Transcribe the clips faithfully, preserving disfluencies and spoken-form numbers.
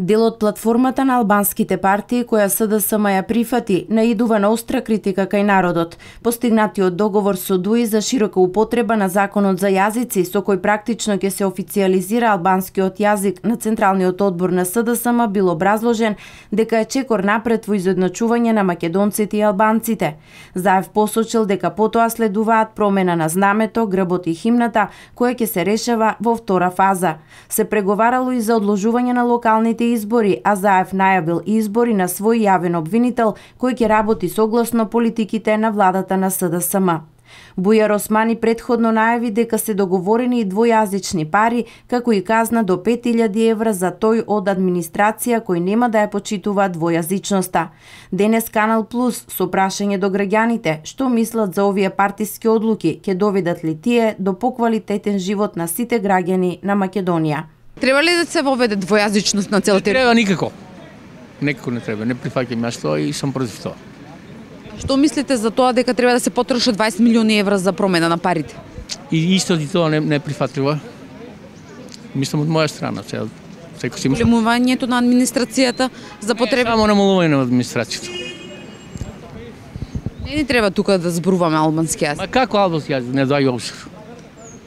Дел од платформата на албанските партии која СДСМ ја прифати наидува на остра критика кај народот. Постигнатиот договор со ДУИ за широка употреба на законот за јазици со кој практично ќе се официјализира албанскиот јазик на Централниот одбор на СДСМ бил образложен дека е чекор напред во изедначување на македонците и албанците. Заев посочил дека потоа следуваат промена на знамето, грбот и химната која ќе се решава во втора фаза. Се преговарало и за одложување на локалните избори, а Заев најавил избори на свој јавен обвинител кој ќе работи согласно политиките на владата на СДСМ. Бујар Османи претходно најави дека се договорени и двојазични пари, како и казна до пет илјади евра за тој од администрација кој нема да ја почитува двојазичноста. Денес Канал Плюс со прашање до граѓаните што мислат за овие партиски одлуки, ќе доведат ли тие до поквалитетен живот на сите граѓани на Македонија. Треба ли да се воведе двојазичност на целата? Не треба никако. Никако не треба. Не прифаќам јас тоа и сум против тоа. Што мислите за тоа дека треба да се потрошат дваесет милиони евра за промена на парите? И исто и тоа не, не прифатливо. Мислам од моја страна. Секој си мисли. Намалувањето на администрацијата за потреба. Не, само намалување на администрацијата. Не ни треба тука да зборуваме албански јазик. Ма како албански јазик? Не дај обшир.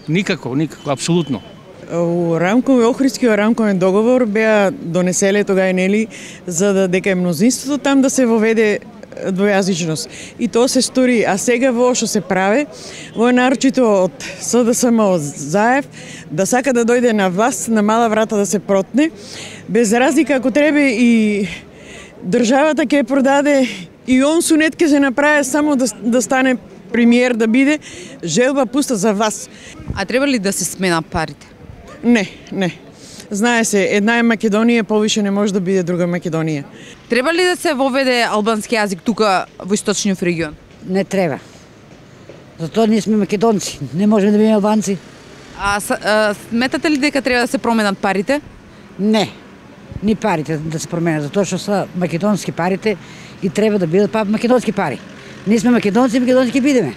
Никако, никако, апсолутно. У рамкови Охридскиот рамковен договор беа донеселе тога нели за да дека е мнозинството там да се воведе двојазичност. И тоа се стори, а сега во што се прави, во нарочито од СДСМ од Заев да сака да дојде на власт на мала врата да се протне, без разлика ако треба и државата ќе продаде и он сунет ќе се направи само да, да стане премиер да биде, желба пуста за вас. А треба ли да се смена парите? Не, не. Знае се, една е Македонија, повише не може да биде друга Македонија. Треба ли да се воведе албански јазик тука во источниот регион? Не треба. Затоа ние сме македонци, не можеме да бидеме албанци. А, а сметате ли дека треба да се променат парите? Не, ни парите да се променат, затоа што се македонски парите и треба да бидат па македонски пари. Ние сме македонци, македонски бидеме.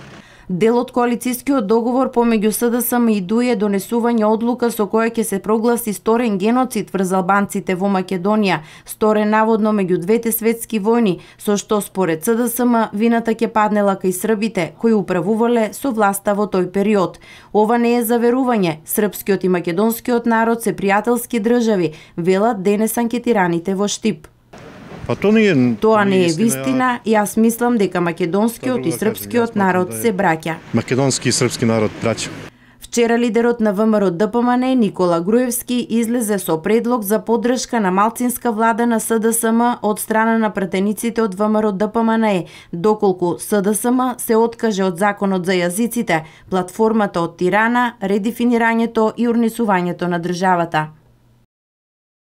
Дел од коалицискиот договор помеѓу СДСМ и ДУИ е донесување одлука со која ќе се прогласи сторен геноцид врз албанците во Македонија, сторен наводно меѓу двете светски војни, со што според СДСМ вината ќе паднела кај србите кои управувале со власта во тој период. Ова не е заверување, српскиот и македонскиот народ се пријателски држави, велат денес анкетираните во Штип. Па тоа не е, тоа не е вистина, јас мислам дека македонскиот и српскиот народ се браќа. Македонски и српски народ браќа. Вчера лидерот на ВМРО ДПМН Никола Груевски излезе со предлог за поддршка на малцинска влада на СДСМ од страна на пратениците од ВМРО ДПМН, доколку СДСМ се откаже од законот за јазиците, платформата од Тирана, редефинирањето и урнисувањето на државата.